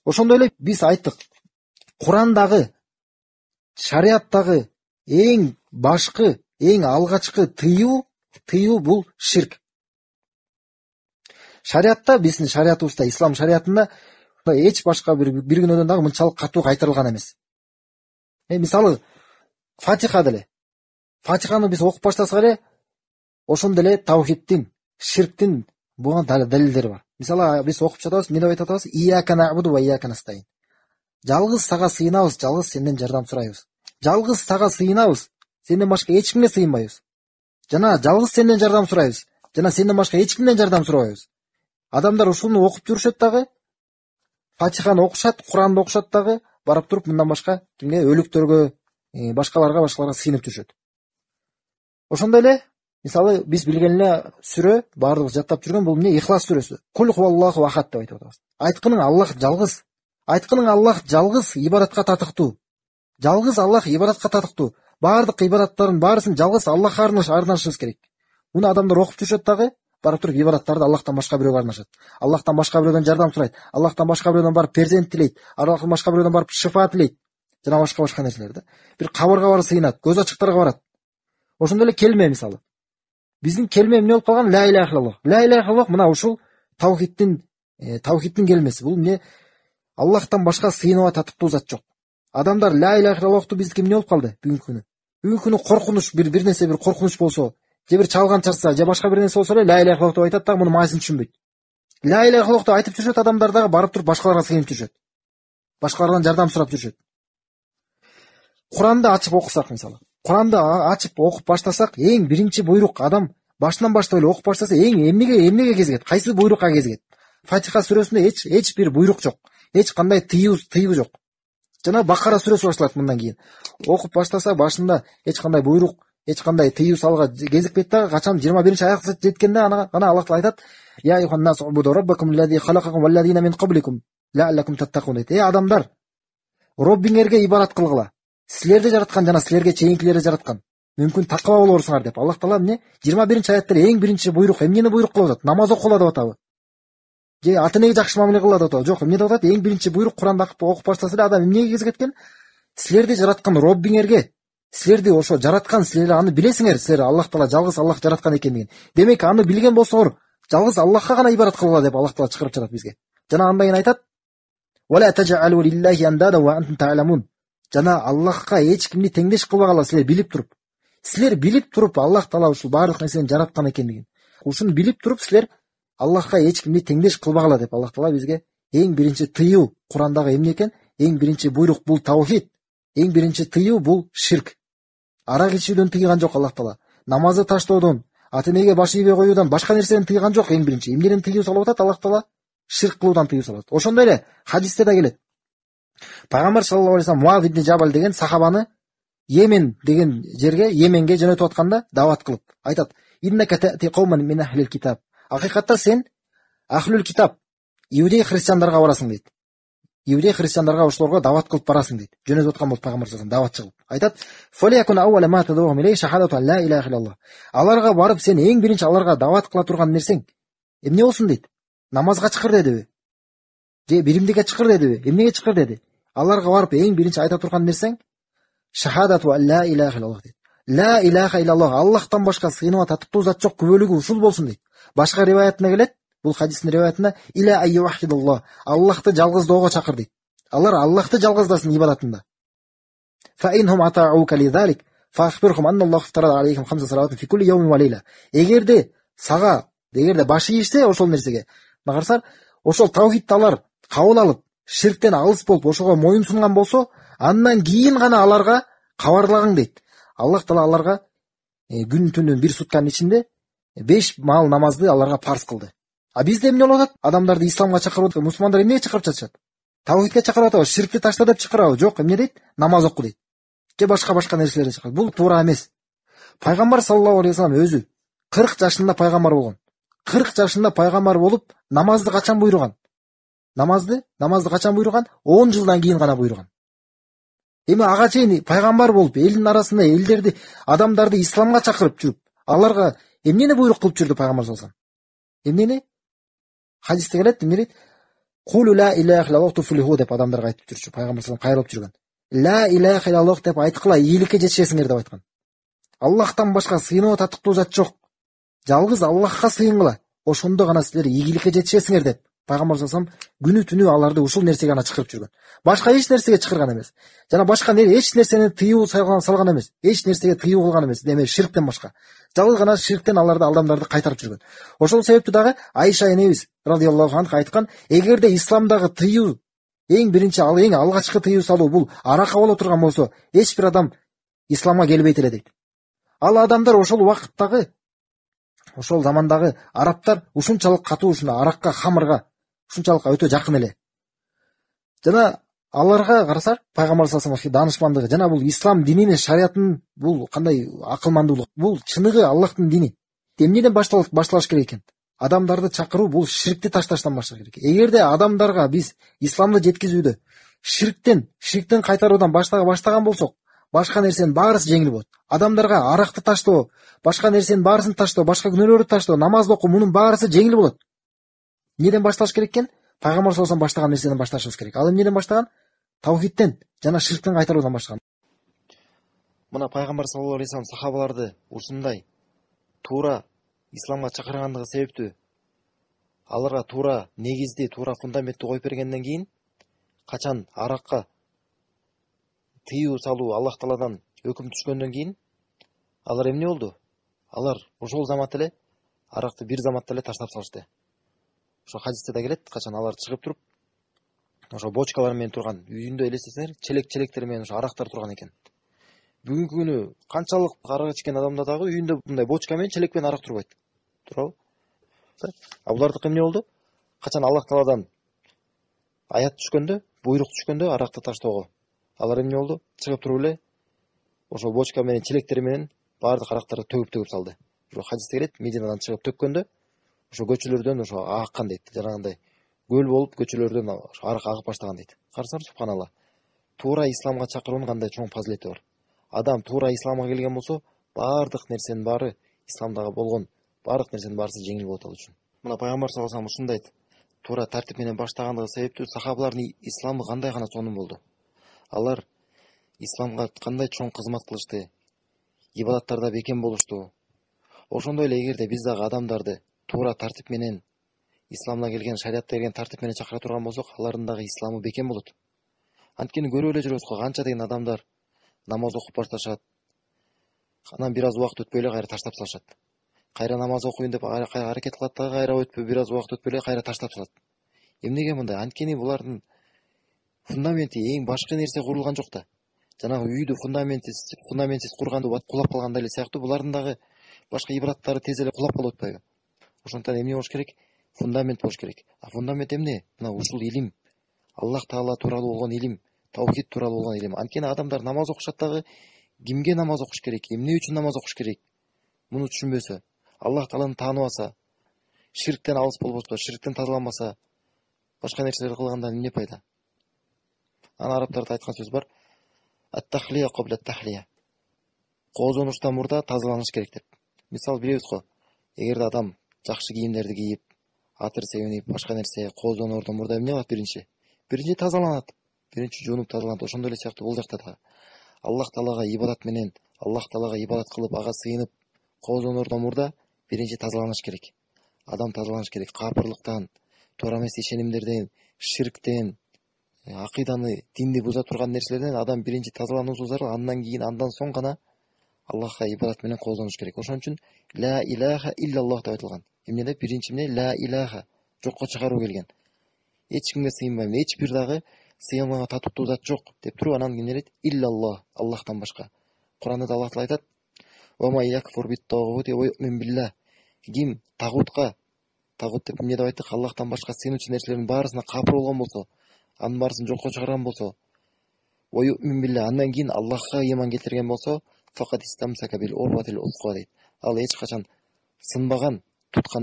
Ошондой эле биз айттык, Курандагы, шариаттагы эң башкы, эң алгачкы тыюу бул ширк. Шариатта, биздин шариятыбызда, ислам шариятында эч башка бир күнөөдөн дагы мынчалык катуу кайтарылган эмес. Мисалы, Фатиха деле. Фатиханы биз окуп баштасак эле, ошондо эле таухиддин, ширктин буга далилдери бар. Мисалы, биз окуп жатабыз, эмне деп айтып атабыз? Ияка набуду ва ияка настаин. Жалгыз сага сыйынабыз, жалгыз сенден жардам сурайбыз. Жалгыз сага сыйынабыз, сенден башка эч кимге сыйынбайбыз. Жана жалгыз сенден жардам сурайбыз, жана сенден башка эч кимден жардам сурабайбыз. Адамдар ушуну окуп жүрүшөт дагы, Фатиханы окушат, Куранды окушат дагы, барып туруп мындан башка кимге, өлүктөргө, башкаларга сыйынып жүрүшөт. Ошондой эле, мисалы, биз билген эле сүрө, баардыгыбыз жаттап жүргөн бул эмне? Ихлас сүрөсү. Кул хуаллаху ахад деп айтып атабыз. Айткының Аллах жалгыз. Айткының Аллах жалгыз ибадатка татыктуу. Жалгыз Аллах ибадатка татыктуу. Баардык ибадаттардын баарысын жалгыз Аллахка арнашыбыз керек. Муну адамдар окуп жүрүшөт дагы, барып туруп ибадаттарды Аллахтан башка бирөөгө арнашат. Аллахтан башка бирөөдөн жардам сурайт. Аллахтан башка бирөөдөн барып перзент тилейт. Аллахтан башка бирөөдөн барып шифа тилейт. Жана башка нерселер да. Бир кабырга барып сыйынат, көз ачыктарга барат. Ошондой эле келме мисалы. Биздин келме эмне болуп калган? Ла иляха иллаллах. Ла иляха иллаллах мына ушул таухиддин келмеси. Бул эмне? Аллахтан башка сыйынууга татыктуу зат жок. Адамдар ла иляха иллаллахту биздики эмне болуп калды бүгүнкү күнү? Бүгүнкү күнү коркунуч, бир нерсе, бир коркунуч болсо, же бир чалган чарса, же башка бир нерсе болсо эле ла иляха иллаллах деп айтат дагы, муну мааниsin түшүнбөйт. Ла иляха иллаллах деп айтып жүрүшөт адамдар дагы, барып туруп башкаларга сыйынып жүрүшөт. Башкалардан жардам сурап жүрүшөт. Куранды ачып окусак мисалы. Куранды ачып окуп баштасак, эң биринчи буйрук адам башынан баштап эле окуп баштаса, эң эмнеге кезигет? Кайсы буйрукка кезигет? Фатиха сүрөсүндө эч бир буйрук жок. Эч кандай тыюу жок. Жана Бакара сүрөсү башталат мындан кийин. Окуп баштаса башында эч кандай буйрук, эч кандай тыюу салга кезикпейт дагы, качан 21-аякка жеткенде ана Аллах Таала айтат: "Я айюханнас убуду раббакум аллази халакакум валлазина мин кабликум лааллакум таттакун" дейт. Адамдар, Роббиңерге ибадат кылгыла. Силерди жараткан жана силерге чейинкилерди жараткан. Мүмкүн такыба болорсуңар деп Аллах Таала эмне? 21-аятта эң биринчи буйрук эмнени буйрук кылып атат? Намаз окула деп атабы? Же ата-энеге жакшы мамиле кыла деп атабы? Жок, эмне деп атат? Эң биринчи буйрук Куранда окуп баштаса эле адам эмнеге кезигет экен? Силерди жараткан Роббиңерге, силерди ошо жараткан, силер аны билесиңер, силер Аллах Таала жалгыз Аллах жараткан экендигин. Демек аны билген болсоңор, жалгыз Аллахка гана ибадат кылгыла деп Аллах Таала чыгарып жатат бизге. Жана андан кийин айтат: "Вала таджалу лиллахи андада ва антум та'ламун". Жана Аллахка эч кимди теңдеш кылбагыла, силер билип туруп. Силер билип туруп Аллах Таала ушул баардык нерсени жараткан экендигин. Ушуну билип туруп силер Аллахка эч кимди теңдеш кылбагыла деп Аллах Таала бизге эң биринчи тыюу Курандагы эмне экен? Эң биринчи буйрук бул таухид. Эң биринчи тыюу бул ширк. Арак ичүүдөн тыйган жок Аллах Таала. Намазды таштоодон, ата-энеге баш ийбей коюудан, башка нерседен тыйган жок. Эң биринчи эмнеден тыюу салып атат Аллах Таала? Ширк кылуудан тыюу салат. Ошондой эле хадисте да келет. Пайгамбар саллаллаху алейхи вассалам Муаз ибн Жабал деген сахабаны Йемен деген жерге, Йеменге жөнөтүп атканда дават кылып айтат: "Иннака та'ти кауман мин ахлил китаб". Акыйкатта сен ахлул китаб, иудей христиандарга барасың дейт. Иудей христиандарга ошолорго дават кылып барасың дейт. Жөнөтүп аткан болуп пайгамбар саллаллаху алейхи вассалам даватчы кылып. Айтат: "Фалякун аула ма тадуухум илей шахадату ла илаха иллаллах". Аларга барып сен эң биринчи аларга дават кыла турган нерсең эмне болсун дейт? Намазга чакыр дедиби? Же биримдикке чакыр дедиби? Эмнеге чакыр деди? Аларга барып эң биринчи айта турган нерсең шахадату ла илаха иллаллах дейт. Ла илаха иллаллах, Аллахтан башка сыйынууга татыктуу зат жок, күбөлүгү ушул болсун дейт. Башка риваятында келет, бул хадистин риваятында иля айюхидуллах, Аллахты жалгыздоого чакыр дейт. Алар Аллахты жалгыздасын ибадатында. Фа инхум атааука лизалик фахбирхум анналлаху фтарада алейхим хамса салават фи кулли йаумин ва лейла. Эгерде баш ийишсе ошол нерсеге, карасар, ошол таухидти алар кабыл алып, ширктен алыс болуп, ошого моюн сунган болсо, андан кийин гана аларга кабарлагың дейт. Аллах Таала аларга күн түнүн бир сутканын ичинде 5 маал намазды аларга парз кылды. А бизде эмне болуп атат? Адамдарды исламга чакырып, мусулмандар эмнеге чакырып жатышат? Таухидке чакырып атабы, ширкти ташта деп чакырабы? Жок, эмне дейт? Намаз оку дейт. Же башка нерселерди чакырат. Бул туура эмес. Пайгамбар саллаллаху алейхи вассалам өзү 40 жашында пайгамбар болгон. 40 жашында пайгамбар болуп, намазды качан буйруган? Намазды качан буйруган? 10 жылдан кийин гана буйруган. Эми ага чейин пайгамбар болуп, элдин арасында элдерди, адамдарды исламга чакырып жүрүп, аларга эмнени буйрук кылып жүрдү пайгамбар саллаллаху алейхи вассалам? Эмнени? Хадисте келет, эмне дейт? Кулу ла илляха иллаллах туфлиху деп адамдарга айтып жүрчү. Пайгамбар саллаллаху алейхи кайрылып жүргөн. Ла илляха иллаллах деп айткыла, ийгиликке жетишесиңер деп айткан. Аллахтан башка сыйынуу татыктуу зат жок. Жалгыз Аллахка сыйынгыла. Ошондо гана силер ийгиликке жетишесиңер деп Пайгамбар саллаллаху алейхи вассалам күнү түнү аларды ушул нерсеге гана чакырып жүргөн. Башка эч нерсеге чакырган эмес. Жана башка эч нерсени тыюу салган эмес. Эч нерсеге тыюу кылган эмес. Деме ширктен башка. Жалгыз гана ширктен аларды адамдарды кайтарып жүргөн. Ошол себептүү дагы Айша энебиз радыйаллаху анха айткан, эгерде исламдагы тыюу эң биринчи эң алгачкы тыюу салуу бул аракка боло турган болсо, эч бир адам исламга келбейт эле дейт. Ал адамдар ошол убакыттагы, ошол замандагы арабтар ушунчалык катуу, ушуна аракка, хамырга ушунчалык өтө жакын эле. Жана аларга карасак, Пайгамбар саллаллаху алейхи даанышмандыгы жана бул ислам дининин, шариятынын бул кандай акылмандуулук, бул чыныгы Аллахтын дини. Эмнеден башталыш керек экен? Адамдарды чакыруу бул ширкти ташташтан башталыш керек. Эгерде адамдарга биз исламды жеткизүүдө ширктен кайтаруудан баштаган болсок, башка нерсенин баарысы жеңил болот. Адамдарга аракты таштоо, башка нерсенин баарысын таштоо, башка күнөөлөрдү таштоо, намаз окуу, мунун баарысы жеңил болот. Эмнеден башталыш керек экен? Пайгамбар саллаллаху алейхи баштаган нерседен башташыбыз керек. Ал эмнеден баштаган? Таухидтен жана ширктен кайтаруудан баштаган. Мына Пайгамбар саллаллаху алейхи вассалам сахабаларды ушундай туура исламга чакыргандыгы себептүү аларга туура негизди, туура фундаментти коюп бергенден кийин качан аракка тыюу салуу Аллах Тааладан өкүм түшкөндөн кийин алар эмне болду? Алар ошол замат эле аракты бир заматта эле таштап салышты. Ошо хадисте да келет, качан алар чыгып туруп ошо бочкалар менен турган, үйүндө элестесеңер, челектер менен ошо арактар турган экен. Бүгүнкү күнү канчалык арак ичкен адамда дагы үйүндө мындай бочка менен, челек менен арак турбайт. Турабы? А булардыкы эмне болду? Качан Аллах Тааладан аят түшкөндө, буйрук түшкөндө аракты таштоого, алар эмне болду? Чыгып туруп эле ошо бочка менен, челектер менен баардык арактарды төгүп салды. Ошо хадисте келет, Мединадан чыгып төккөндө ошо көчөлөрдөн ошо аккан дейт. Жанагындай көл болуп көчөлөрдөн ошо арак агып баштаган дейт. Карасаңар, субханалла. Туура исламга чакыруунун кандай чоң фазилети бар. Адам туура исламга келген болсо, баардык нерсенин баары исламдагы болгон баардык нерсенин баарысы жеңил болот ал үчүн. Мына Пайгамбар саллаллаху алейхи вассалам ушундай айт. Туура тартип менен баштагандыгы себептүү сахабалардын исламы кандай гана сонун болду. Алар исламга кандай чоң кызмат кылышты, ибадаттарда бекем болушту. Ошондой эле эгерде биз дагы адамдарды туура тартип менен исламга келген, шариятта келген тартип менен чакыра турган болсок, алардын дагы исламы бекем болот. Анткени көрүп эле жүрөбүз го, канча деген адамдар намаз окуп башташат. Анан бир аз убакыт өтпөй эле кайра таштап салышат. Кайра намаз окуйн деп аракет кылат дагы, кайра өтпөй бир аз убакыт өтпөй эле кайра таштап салат. Эмнеге мындай? Анткени булардын фундаменти эң башкы нерсе курулган жок да. Жанагы үйдү фундаментсиз курганды кулап калгандай эле сыяктуу, булардын дагы башка ибадаттары тез эле кулап калып атпайбы? Ошондуктан эмне болуш керек? Фундамент болуш керек. А фундамент эмне? Мына ушул илим, Аллах Таала тууралуу болгон илим, таухид тууралуу болгон илим. Анткени адамдар намаз окушат дагы, кимге намаз окуш керек, эмне үчүн намаз окуш керек? Муну түшүнбөсө, Аллах Тааланы тааныбаса, ширктен алыс болбосо, ширктен тазаланбаса, башка нерселерди кылгандан эмне пайда? Ана арабтарда айткан сөз бар. Ат-тахлия кабла ат-тахлия. Коозонуштан мурда тазаланыш керек деп. Мисалы билебиз го, эгерде адам жакшы кийимдерди кийип, атыр себинип, башка нерсе коозоноордон мурда эмне кылат биринчи? Биринчи тазаланат. Биринчи жуунуп тазаланат. Ошондой эле сыяктуу бул жакта да Аллах Таалага ибадат менен, Аллах Таалага ибадат кылып, ага сыйынып, коозоноордон мурда биринчи тазаланыш керек. Адам тазаланыш керек капырлыктан, туура эмес ишенимдерден, ширктен, акыйданы, динди буза турган нерселерден адам биринчи тазалануусу зарыл. Андан соң гана Аллахка ибадат менен коозонуш керек. Ошон үчүн ла илаха иллаллах деп айтылган. Эмне деп? Биринчи эмне? Ла илаха. Жокко чыгаруу келген. Эч кимге сыйынбайм, эч бир дагы сыйылмага татыктуу зат жок деп туруп, анан эмне дейт? Иллаллах, Аллахтан башка. Куранда да Аллах Таала айтат: "Ва ма якфур бит-тагути ва ю'мин билlah". Ким тагутка, тагут деп эмне деп айттык? Аллахтан башка сыйынуучу нерселердин баарысына капыр болгон болсо, анын баарысын жокко чыгарган болсо, ва ю'мин билlah, андан кийин Аллахка ыйман келтирген болсо, факат истамсака бил урватил усқа дейт. Ал эч качан сынбаган, туткан